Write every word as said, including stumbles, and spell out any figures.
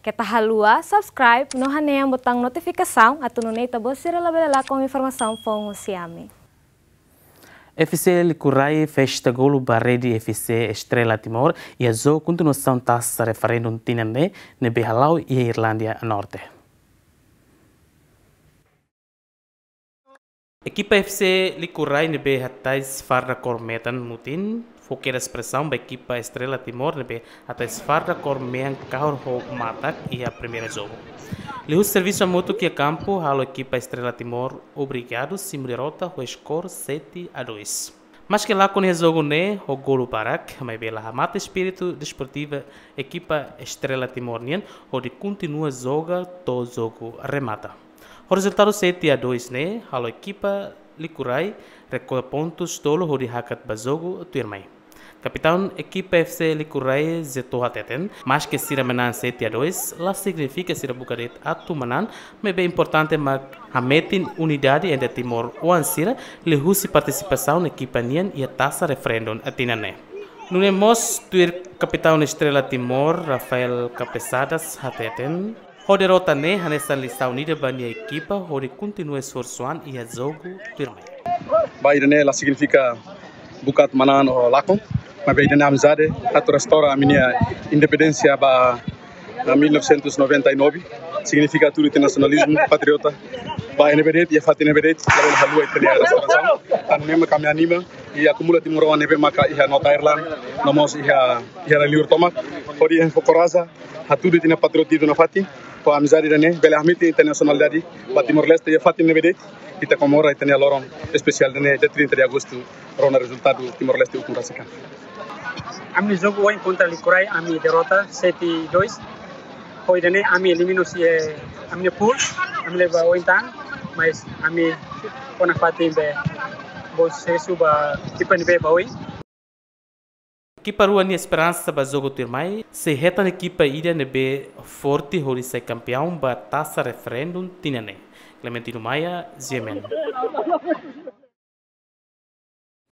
Keta haluha subscribe no hanehan botaun notifikasaun atu nune'e ita-boot sira labele lakon informasaun foun husi ami. F C Licurai festa golu ba rede F C Estrela Timor iha jogu kontinuasaun Taça Referendum tinan ne'e ne'ebé hala'o iha Irlandia Norte. Ekipa F C Licurai ne'ebé hatais farda kór metan mutin fó kedas presaun ba ekipa Estrela Timor ne'ebé hatais farda kór mean kahur ho matak iha primeira jogu. Liuhusi servisu hamutuk iha kampu halo ekipa Estrela Timor obrigadu simu derrota ho skor sete a dois. Maske lakon iha jogu ne'e ho golu barak, maibé la hamate espíritu desportiva ekipa Estrela Timor nian hodi kontinua joga to'o jogu remata. Ho rezultadu sete a dois ne'e, halo ekipa Licurai rekolla pontus tolu hodi hakat ba jogu tuirmai. Kapitaun ekipa F C Licurai Zeto hateten, maske sira manán sete a dois, la signifika sira buka de'it atu manán, maibé importante mak hametin unidade entre timoroan sira, liuhusi partisipasaun ekipa nian iha Taça Referendum tinan ne'e. Nune'e mós tuir kapitaun Estrela Timor, Rafael Capesadas hateten, ho derrota ne'e hanesan lisaun ida ba nia ekipa hodi kontinua esforsu an iha jogu tuirmai. Ba ida-ne'e la signifika buka atu manán ou lakon, maibé ida-ne'e amizade, atu restaura ami-nia independénsia ba, ah, mil novecentos e noventa e nove, signifika atu ita nasionalizmu, patriota. Ba iha ne'ebé de'it, iha fatin ne'ebé de'it, labele haluha ita-nia restaurasaun. Tan ne'e mak ami anima, i akumula timoroan ne'ebé maka iha North Ireland, no mós iha, iha rai-liur tomak, hodi enfokoraza, hatudu ita-nia patriotismu nafatin, ho amizade ida-ne'e, bele hametin ita-nia nasionalidade ba Timor-Leste iha fatin ne'ebé de'it, ita komemora ita-nia loron espesiál ida-ne'e, dia trinta de agosto, rona rezultadu Timor-Leste ukun rasik an. Ami jogu ohin kontra Licurai, ami derrota sete dois. Ho ida-ne'e ami elimina husi, eh, ami-nia pool, ami leba oin tan, mas ami kona fatin be bom susesu ba ekipa ne'ebé ba oin. Ekipa rua nia esperansa ba jogu tuirmai, sei hetan ekipa ida ne'ebé forte hodi sai kampiaun ba Taça Referendum tinan ne'e. Clementino Maia, G M N.